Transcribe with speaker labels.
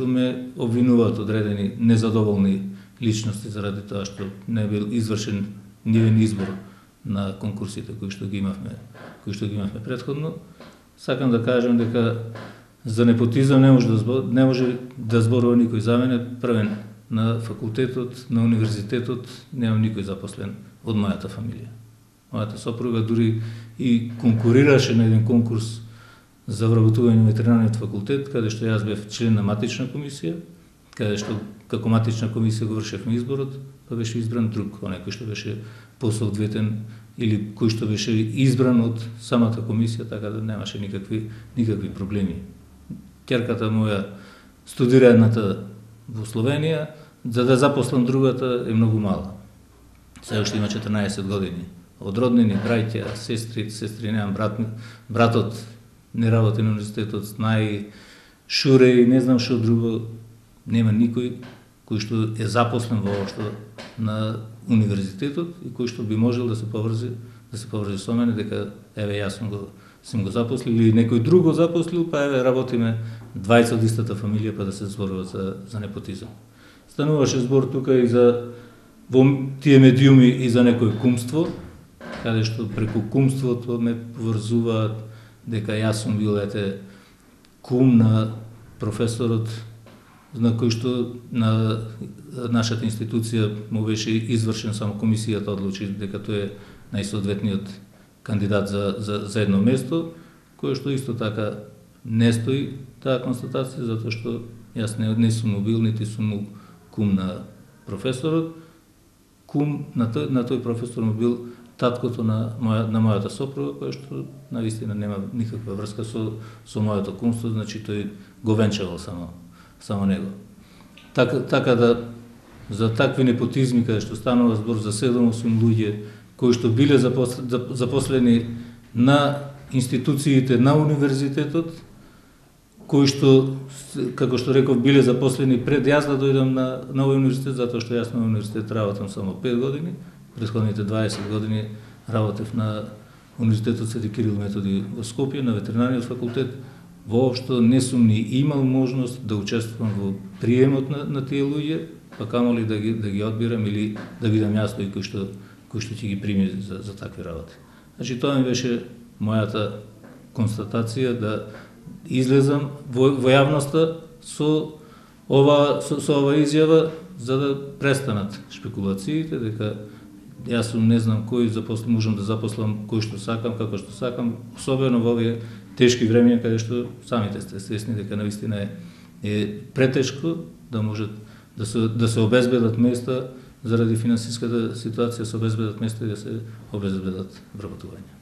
Speaker 1: што ме обвинуваат одредени незадоволни личности заради тоа што не бил извршен нивен избор на конкурсите кои што ги имавме претходно. Сакам да кажам дека за непотизам не може да зборува никој за мене. Првен на факултетот, на универзитетот немам никој запослен од мојата фамилија. Мојата сопруга дури и конкурираше на еден конкурс за вработување на ветеринариот факултет, каде што јас бев член на матична комисија, каде што како матична комисија го вршевме изборот, па беше избран друг, оној кој што беше посоодветен или кој што беше избран од самата комисија, така да немаше никакви проблеми. Ќерката моја студира едната во Словенија, за да запослам другата е многу мала. Сега што има 14 години. Од роднини, браќа, сестри немам, братот не работи на универзитетот, знае, шуре и не знам што друго. Нема никој кој што е запослен воопшто на универзитетот и кој што би можел да се поврзи со мене дека еве јас сум го запослил или некој друг го запослил, па еве работиме двајца од истата фамилија па да се зборува за непотизам. Стануваше збор тука и за во тие медиуми и за некој кумство, каде што преку кумството ме поврзуваат дека јас сум бил кум на професорот на кој што на нашата институција му беше извршен, само комисијата одлучи дека тој е најсоодветниот кандидат за едно место, кое што исто така не стои таа констатација, затоа што јас не сум му бил, нити сум му кум на професорот. Кум на тој професор му бил таткото на мојата сопруга, која што навистина нема никаква врска со моето кумство, значи тој го венчавал само него. Така да за такви непотизми каде што станува збор за 7-8 луѓе кои што биле запослени на институциите на универзитетот, кои што, како што реков, биле запослени пред јас да дојдам на овој универзитет, затоа што јас на универзитет работам само 5 години, претходните 20 години работев на Универзитетот Свети Кирил Методи во Скопје, на ветеринариот факултет. Воопшто не сум ни имал можност да учествувам во приемот на тие луѓе, па камоли да ги одбирам или да бидам јас тој кој што ќе ги прими за такви работи. Значи тоа ми беше мојата констатација, да излезам во јавноста со ова изјава за да престанат шпекулациите дека јас сум не знам кој можам да запослам кој што сакам, како што сакам, особено во овие тешки времења каде што самите сте свесни дека навистина е претешко да можат да се обезбедат места заради финансиската ситуација, се обезбедат места и да се обезбедат вработувања.